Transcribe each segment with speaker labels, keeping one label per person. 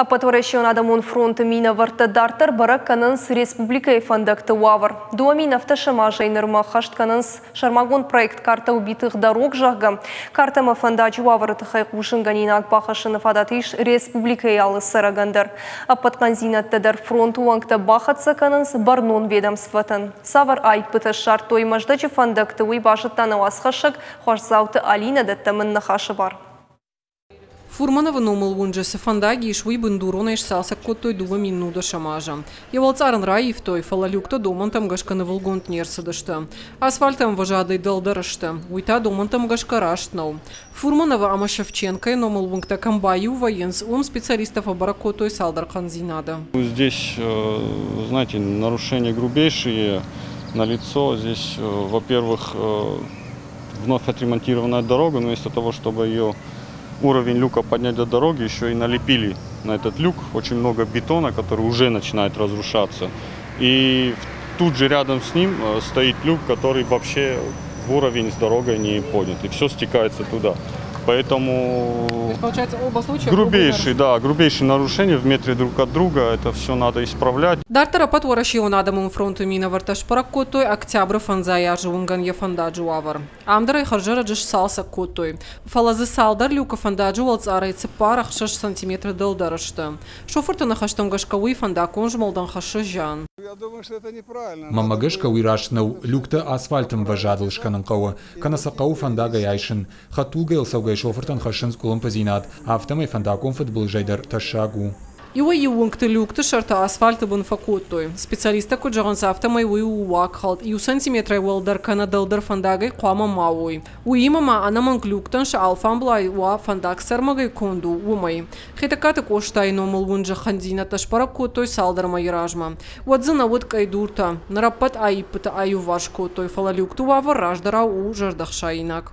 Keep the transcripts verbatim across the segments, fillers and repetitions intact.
Speaker 1: Ӕппӕтуӕрӕсеон адӕмон фронты минӕвӕрттӕ дарддӕр бӕрӕг кӕнынц республикӕйы фӕндӕгты уавӕр. Дыууӕ мин ӕвддӕсӕм азӕй нырмӕ ӕххӕст кӕнынц сӕрмагонд проект «Карта убитых дорог», зӕгъгӕ. Картӕмӕ фӕндаджы уавӕры тыххӕй хъусынгӕнинаг бахӕссыны фадат ис республикӕйы алы цӕрӕгӕн дӕр. Ӕппӕт хъӕндзинӕдтӕ дӕр фронты уӕнгтӕ бахӕццӕ кӕнынц бӕрнон ведомствотӕн. Цавӕр аиппытӕ ссардтой Мӕздӕджы фӕндӕгты, уый базыдта нӕ уацхӕссӕг Хуасдзауты Алинӕ, дӕттӕм ын ныхасы бар.
Speaker 2: Фурмановы номыл уынджы цы фӕндаг ис, уый бындуронӕй сцалцӕг кодтой дыууӕ мин нудӕсӕм азы. Йӕ уӕлцъар ын раивтой, фӕлӕ люктӕ домӕнтӕм гӕсгӕ нывылгонд не рцыдысты. Асфальты ӕмвӕзадӕй дӕлдӕр сты. Уый та домӕнтӕм гӕсгӕ раст нӕу. Фурмановы ӕмӕ Шевченкойы номыл уынгтӕ кӕм баиу вӕййынц, уым специалисттӕ фӕбӕрӕг кодтой цалдӕр хъӕндзинады.
Speaker 3: Здесь, знаете, нарушения грубейшие налицо. Здесь, во-первых, вновь отремонтированная дорога, но вместо того, чтобы ее уровень люка поднять до дороги, еще и налепили на этот люк очень много бетона, который уже начинает разрушаться. И тут же рядом с ним стоит люк, который вообще в уровень с дорогой не поднят. И все стекается туда. Поэтому
Speaker 2: То есть, получается, оба случая
Speaker 3: грубейшие, да, грубейшие нарушения в метре друг от друга, это все надо исправлять.
Speaker 2: Дарддӕр Ӕппӕтуӕрӕсеон адӕмон фронты минӕвӕрттӕ сбӕрӕг кодтой Октябры фӕндзай азы уынгӕн йӕ фӕндаджы уавӕр. Ам дӕр ӕй хӕрзӕрӕджы сцалцӕг кодтой. Фӕлӕ дзы цалдӕр люкы фӕндаджы уӕлцъарӕй цыппар ӕхсӕз сантиметры дӕлдӕр сты. Шофырты ныхӕстӕм гӕсгӕ уый фӕндаггон змӕлдӕн хӕссы зиан.
Speaker 4: Мӕнмӕ гӕсгӕ уый раст нӕу, люктӕ асфальты ӕмвӕзадыл скӕнын хъӕуы, кӕнӕ сӕ хъӕуы фӕндагӕй айсын. Хӕдтулгӕйыл цӕугӕ шофыртӕн хӕссынц къуылымпыдзинад, афтӕмӕй фӕндаггон фыдбылызӕй дӕр тӕссаг у.
Speaker 2: Иуӕй-иу уынгты люкты сӕртӕ асфальты бын фӕкодтой. Специалисттӕ куыд зӕгъынц, афтӕмӕй уый у уагхӕлд. Иу сантиметрӕй уӕлдӕр кӕнӕ дӕлдӕр фӕндагӕй хъуамӕ ма уой. Уыимӕ ма ӕнӕмӕнг люктӕн сӕ алфамблай уа фӕндаг цы ӕрмӕгӕй конд у, уымӕй. Хетӕгкаты Къостайы номыл уынджы хъӕндзинӕдтӕ сбӕрӕг кодтой цалдӕр мӕйы размӕ. Уӕд дзы нӕ уыд къӕйдуртӕ. Ныр ӕппӕт аиппыты аиуварс кодтой, фӕлӕ люкты уавӕр раздӕрау у зӕрдӕхсаинаг.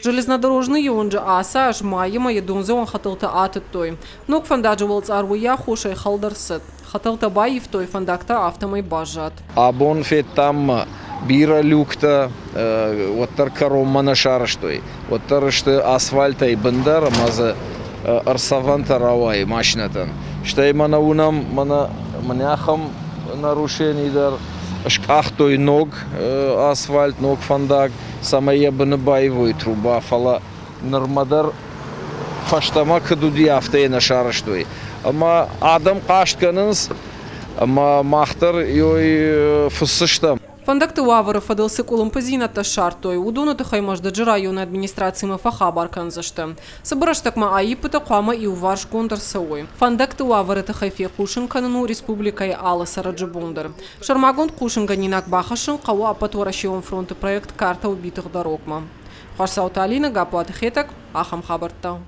Speaker 2: Железнодорожныйы уынджы ацы аз майы мӕйы дондзӕуӕн хӕтӕлтӕ атыдтой. Ног фӕндаджы уӕлцъар уый аххосӕй хӕлд ӕрцыд. Хӕтӕлтӕ баивтой, фӕндаг та афтӕмӕй баззад.
Speaker 5: Абон федтам бирӕ люктӕ, уӕддӕр кӕронмӕ нӕ сарӕзтой. Уӕддӕр сты асфальтӕй бындӕр ӕмӕ дзы ӕрцӕвӕнтӕ рауайы машинӕтӕн. Стӕй мӕнӕ уынӕм, мӕнӕ мӕнӕ ахӕм нарушени дӕр. Скъахтой ног асфальт, ног фӕндаг, цӕмӕй йӕ быны баивой труба, фӕлӕ нырмӕ дӕр фӕстӕмӕ куыд уыди, афтӕ йӕ нӕ сарӕзтой. Ӕмӕ адӕм хъаст кӕнынц, ӕмӕ мах дӕр ой фыссыстӕм.
Speaker 2: Фӕндӕгты уавӕры фӕдыл цы къуылымпыдзинӕдтӕ ссардтой, уыдоны тыххӕй Мӕздӕджы районы администрацимӕ фӕхабар кӕндзысты. Цыбыр рӕстӕгмӕ аиппытӕ хъуамӕ иуварсгонд ӕрцӕуой. Фӕндӕгты уавӕры тыххӕй фехъусын кӕнын у республикӕйы алы цӕрӕджы бон дӕр. Сӕрмагонд хъусынгӕнинаг бахӕссын хъӕуы Ӕппӕтуӕрӕсеон фронты проект «Карта убитых дорог»-мӕ. Хуасдзауты Алинӕ, Гаппуаты Хетӕг, ахӕм хабӕрттӕ.